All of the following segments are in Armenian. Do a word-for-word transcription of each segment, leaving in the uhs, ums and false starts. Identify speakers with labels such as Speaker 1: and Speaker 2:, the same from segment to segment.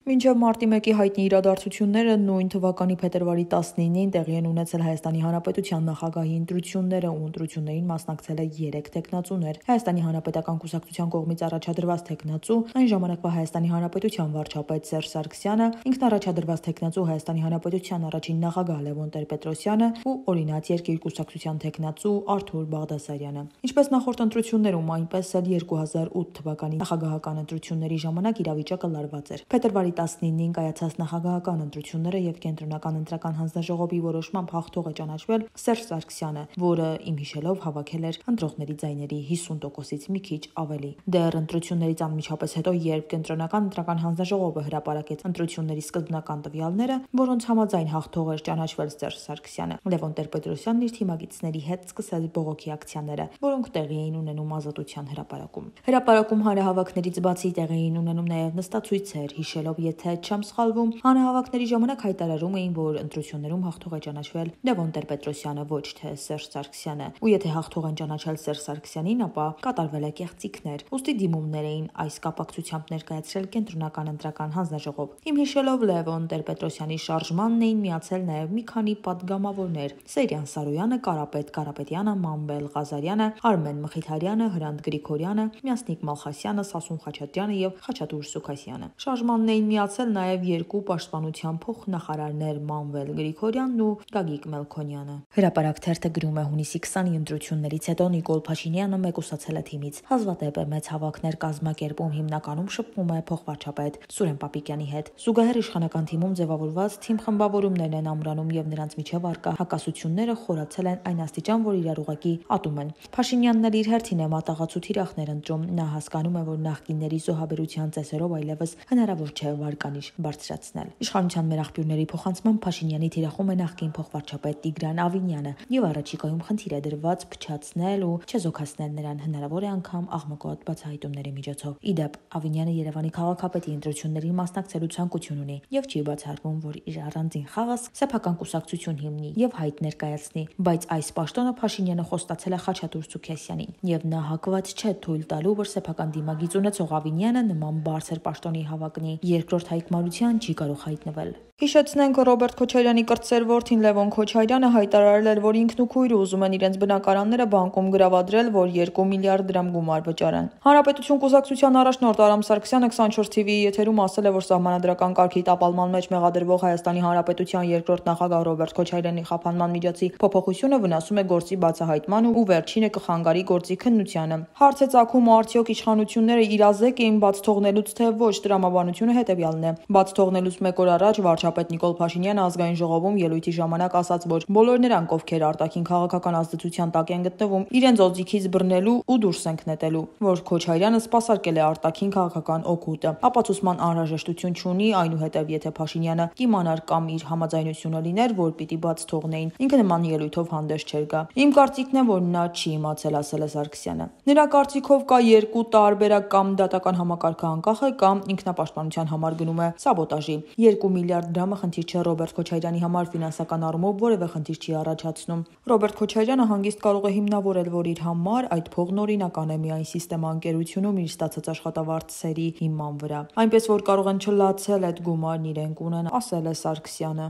Speaker 1: Մինչև մարտի մեկի հայտնի իրադարձությունները նույն թվականի փետրվարի տասնինին տեղի են ունեցել Հայաստանի Հանրապետության նախագահի ընտրությունները ու ընտրություններին մասնակցել է երեք թեկնածուներ։ Հայաստանի Հանրապետական կուսակցության կողմից առաջադրված թեկնածու, այն ժամանակվա Հայաստանի Հանրապետության վարչապետ Սերժ Սարգսյանը, ինքնառաջադրված թեկնածու Հայաստանի Հանրապետության առաջին նախագահ Լևոն Տեր-Պետրոսյանը ու օրինաց երկիր կուսակցության թեկնածու Արթուր Բաղդասարյանը։ Ինչպես նախորդ ընտրություններում, այնպես էլ երկու հազար ութ թվականի նախագահական ընտրությունների ժամանակ իրավիճակը լարված էր։ Փետրվարի տասնինին կայացած նախագահական ընտրությունները եւ կենտրոնական ընտրական հանձնաժողովի որոշմամբ հաղթող է ճանաչվել Սերժ Սարգսյանը, որը իմ հիշելով հավաքել էր ընտրողների ձայների հիսուն տոկոսից մի քիչ ավելի։ Դեռ ընտրություններից անմիջապես հետո, երբ կենտրոնական ընտրական հանձնաժողովը հրապարակեց ընտրությունների սկզբնական տվյալները, որոնց համաձայն հաղթող էր ճանաչվել Սերժ Սարգսյանը, Լևոն Տեր-Պետրոսյանն իր թիմակիցների հետ սկսեց բողոքի ակցիաները, որոնք տեղի էին ունենում Ազատության հրապարակում։ Հրապարակում հանրահավաքներից բացի տեղի էին ունենում նաև նստացույցեր, հիշելով, եթե չեմ սխալվում, հանրահավաքների ժամանակ հայտարարում էին, որ ընտրություններում հաղթող է ճանաչվել Լևոն Տեր-Պետրոսյանը, ոչ թե Սերժ Սարգսյանը, ու եթե հաղթող են ճանաչել Սերժ Սարգսյանին, ապա կատարվել է կեղծիքներ։ Ուստի դիմումներ էին այս կապակցությամբ ներկայացրել կենտրոնական ընտրական հանձնաժողով։ Իմ հիշելով Լևոն Տեր-Պետրոսյանի շարժմանն էին միացել նաև մի քանի պատգամավորներ՝ Սեյրան Սարոյանը, Կարապետ Կարապետյանը, Մամբել Ղազարյանը, Արմեն Մխիթարյանը, Հրանտ Գրիգորյանը, Մյասնիկ Մալխասյանը, Սասուն Խաչատրյանը եւ Խաչատուր Սուքասյանը։ Շարժմանն էին միացել նաև երկու պաշտպանության փոխնախարարներ՝ Մանվել Գրիգորյանն ու Գագիկ Մելքոնյանը։ Հրապարակ թերթը գրում է հունիսի քսանի ընտրություններից հետո Նիկոլ Փաշինյանը մեկուսացել է թիմից։ Հազվադեպ է մեծ հավաքներ կազմակերպում, հիմնականում շփվում է փոխվարչապետ Սուրեն Պապիկյանի հետ։ Զուգահեռ իշխանական թիմում ձևավորված թիմ խմբավորումներն են ամրանում եւ նրանց միջև առկա հակասությունները խորացել են այն աստիճան, որ իրար ուղղակի ատում են։ Փաշինյանն էլ իր հերթին է մատաղացու թիրախներ ընտրում։ Նա հասկանում է, որ նախկինների զոհաբերության ծեսերով այլևս հնարավոր չէ վարկանիշ բարձրացնել։ Իշխանության մեր աղբյուրների փոխանցման Փաշինյանի թիրախում է նախկին փոխվարչապետ Տիգրան Ավինյանը եւ առաջիկայում խնդիր է դրված փչացնել ու չեզոքացնել նրան, հնարավոր է անգամ աղմկոտ բացահայտումների միջոցով։ Իդեպ Ավինյանը Երևանի քաղաքապետի ընտրություններին մասնակցելու ցանկություն ունի եւ չի բացառվում, որ իր առանձին խաղը սեփական կուսակցություն հիմնի եւ հայտ ներկայացնի, բայց այս պաշտոնը Փաշինյանը խոստացել է Խաչատուր Սուքասյանին եւ նա հակված չէ թույլ տալու, որ սեփական դիմագիծ ունեցող Ավինյանը նման բարձր պաշտոնի հավակնի։ Երկրորդ հայկմանության չի կարող հայտնվել։ Հիշեցնենք, Ռոբերտ Քոչարյանի կրտսեր որդին Լևոն Քոչարյանը հայտարարել էր, որ ինքն ու քույրը ուզում են իրենց բնակարանները բանկում գրավադրել, որ երկու միլիարդ դրամ գումար վճարեն։ Հանրապետություն կուսակցության առաջնորդ Արամ Սարգսյանը քսանչորս թիվի եթերում ասել է, որ սահմանադրական կարգի տապալման մեջ մեղադրվող Հայաստանի Հանրապետության երկրորդ նախագահ Ռոբերտ Քոչարյանի խափանման միջոցի փոփոխությունը վնասում է գործի բացահայտման ու վերջինը կխանգարի գործի քննությանը։ Հարց է ծագում, արդյոք իշխանությունները իրազեկ էին բաց թողնելուց, թե ոչ։ Տրամաբանությունը հետևյալն է։ Բաց թողնելուց մեկ օր առաջ վարչապետ Նիկոլ Փաշինյանը ազգային ժողովում ելույթի ժամանակ ասաց, որ բոլոր նրանք, ովքեր արտաքին քաղաքական ազդեցության տակ են գտնվում, իրենց օձիքից բռնելու ու դուրս են նետելու, որ Քոչարյանը սպասարկել է արտաքին քաղաքական օգուտը, ապացուցման անհրաժեշտություն չունի, այնուհետև եթե Փաշինյանը կիմանար կամ իր համաձայնությունը լիներ, որ պիտի բաց թողնեին, ինքը նման ելույթով հանդես չէր գա։ Իմ կարծիքն է, որ նա չի իմացել, ասել է Սարգսյանը։ Նրա կարծիքով կա երկու տարբերակ, կամ դատական համակարգը անկախ է, կամ ինքնապաշտպանության համար գնում է սաբոտաժի։ Երկու միլիարդ դրամը խնդիր չէ Ռոբերտ Քոչարյանի համար, ֆինանսական առումով որևէ խնդիր չի առաջացնում։ Ռոբերտ Քոչարյանը հանգիստ կարող է հիմնավորել, որ իր համար այդ փողն օրինական է միայն սիստեմա ընկերությունում իր ստացած աշխատավարձերի հիման վրա, այնպես որ կարող են չլացել այդ գումարն իրենք ունեն, ասել է Սարգսյանը։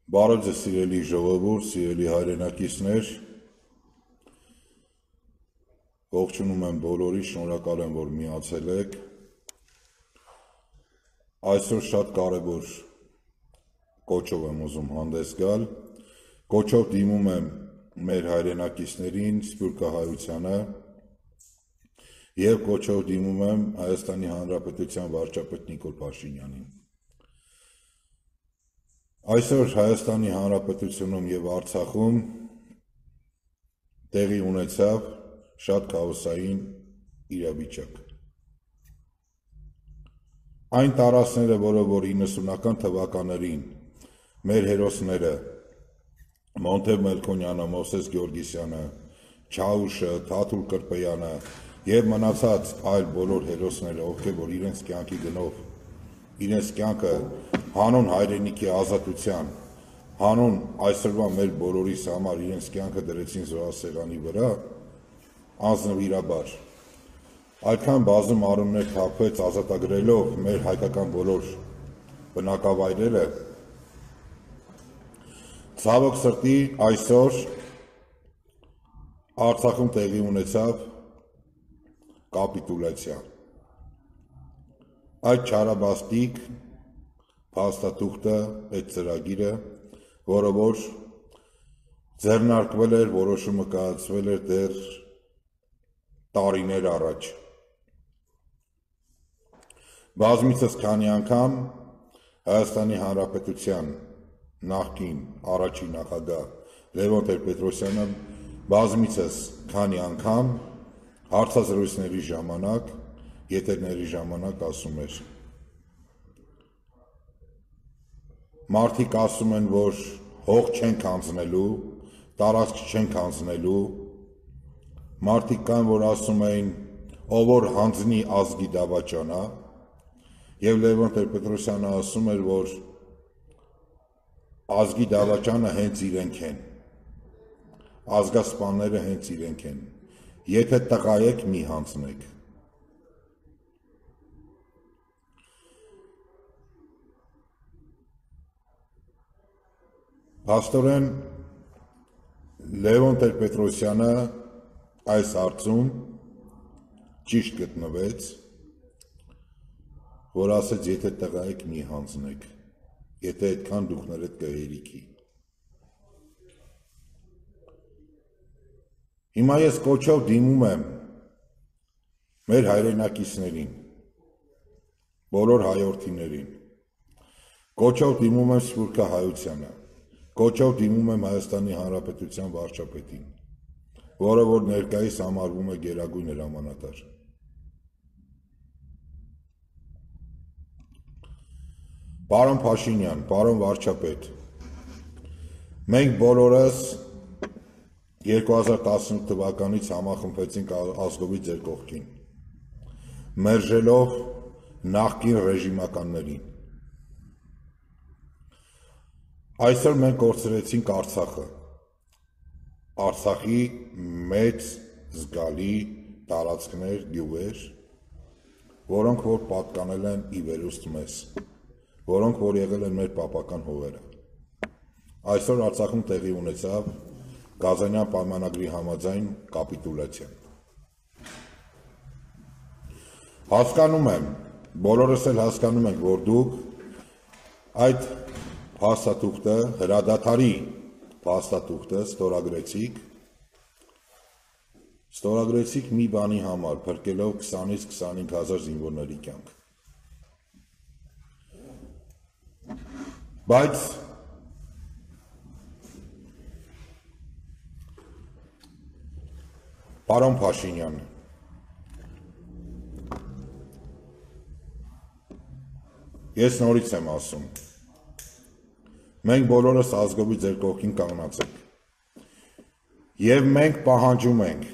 Speaker 2: Բարև ձեզ սիրելի ժողովուրդ, սիրելի հայրենակիցներ, ողջունում եմ բոլորի, շնորհակալ եմ, որ միացել եք։ Այսօր շատ կարևոր կոչով եմ ուզում հանդես գալ, կոչով դիմում եմ մեր հայրենակիցներին, սփյուռքահայությանը եւ կոչով դիմում եմ Հայաստանի Հանրապետության վարչապետ Նիկոլ Փաշինյանին։ Այսօր Հայաստանի Հանրապետությունում եւ Արցախում տեղի ունեցավ շատ քաոսային իրավիճակ։ Այն տարածքները, որը որ իննսունական թվականներին մեր հերոսները Մոնտեվ Մելքոնյանը, Մովսես Գեորգիսյանը, Չաուշը, Թաթուլ Կրպեյանը եւ մնացած այլ բոլոր հերոսները, ովքեր որ իրենց կյանքի գնով իրենց կյանքը հանուն հայրենիքի ազատության, հանուն այսօրվա մեր բոլորիս համար իրենց կյանքը դրեցին զոհասեղանի վրա, անձնվիրաբար այդքան բազում առումներ թափվեց ազատագրելով մեր հայկական բոլոր բնակավայրերը, ցավոք սրտի այսօր Արցախում տեղի ունեցավ կապիտուլյացիա։ Այդ չարաբաստիկ փաստաթուղթը, այդ ծրագիրը, որը որ ձեռնարկվել էր, որոշումը կայացվել էր դեռ տարիներ առաջ։ Բազմիցս քանի անգամ Հայաստանի Հանրապետության նախկին առաջին նախագահ Լևոն Տեր-Պետրոսյանը բազմիցս քանի անգամ հարցազրույցների ժամանակ, եթերների ժամանակ ասում էր. Մարդիկ ասում են, որ հող չենք հանձնելու, տարածք չենք հանձնելու, մարդիկ կան, որ ասում էին, ով որ հանձնի ազգի դավաճանա, եւ Լևոն Տեր-Պետրոսյանը ասում էր, որ ազգի դավաճանը հենց իրենք են, ազգասպանները հենց իրենք են, եթե տղա եք մի հանձնեք։ Փաստորեն Լևոն Տեր-Պետրոսյանը այս հարցում ճիշտ գտնվեց, որ ասեց, եթե տղա եք մի հանձնեք, եթե այդքան դուքներդ կհերիքի։ Հիմա ես կոչով դիմում եմ մեր հայրենակիցներին, բոլոր հայորդիներին, կոչով դիմում եմ Սփյուռքա Հայությանը, կոչով դիմում եմ Հայաստանի Հանրապետության վարչապետին, որը որ ներկայիս համարվում է գերագույն հրամանատար։ Պարոն Փաշինյան, պարոն վարչապետ, մենք բոլորս երկու հազար տասնութ թվականից համախմբվեցինք ազգովի ձեր կողքին, մերժելով նախկին ռեժիմականներին։ Այսօր մենք կորցրեցինք Արցախը, Արցախի մեծ զգալի տարածքներ, գյուղեր, որոնք որ պատկանել են ի վերուստ մեզ, որոնք որ եղել են մեր պապական հողերը։ Այսօր Արցախում տեղի ունեցավ Կազանյան պայմանագրի համաձայն կապիտուլյացիա։ Հասկանում եմ, բոլորս էլ հասկանում ենք, որ դուք այդ փաստաթուղթը, հրադադարի փաստաթուղթը ստորագրեցիք, ստորագրեցիք մի բանի համար, փրկելով քսանից քսանհինգ հազար զինվորների կյանք։ Բայց պարոն Փաշինյան, ես նորից եմ ասում, մենք բոլորս ազգովի ձեր կողքին կանգնած ենք, եւ մենք պահանջում ենք,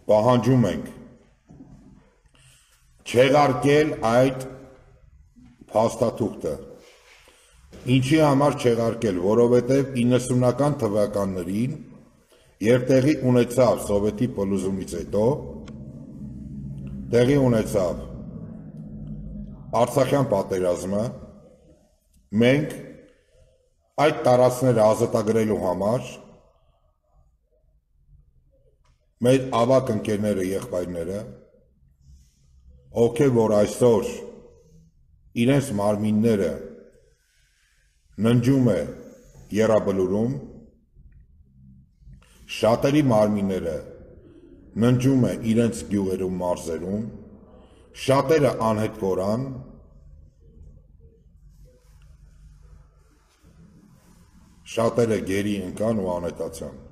Speaker 2: պահանջում ենք չեղարկել այդ փաստաթուղթը, ինչի համար չեղարկել, որովհետև իննսունական թվականներին, երբ տեղի ունեցավ սովետի փլուզումից հետո, տեղի ունեցավ Արցախյան պատերազմը, մենք այդ տարածքները ազատագրելու համար մեր ավակ ընկերները, եղբայրները, ովքեր որ այսօր իրենց մարմինները ննջում է եռաբլուրում, շատերի մարմինները ննջում է իրենց գյուղերում, մարզերում, շատերը անհետ կորան, շատերը գերի ընկան ու անհետացան։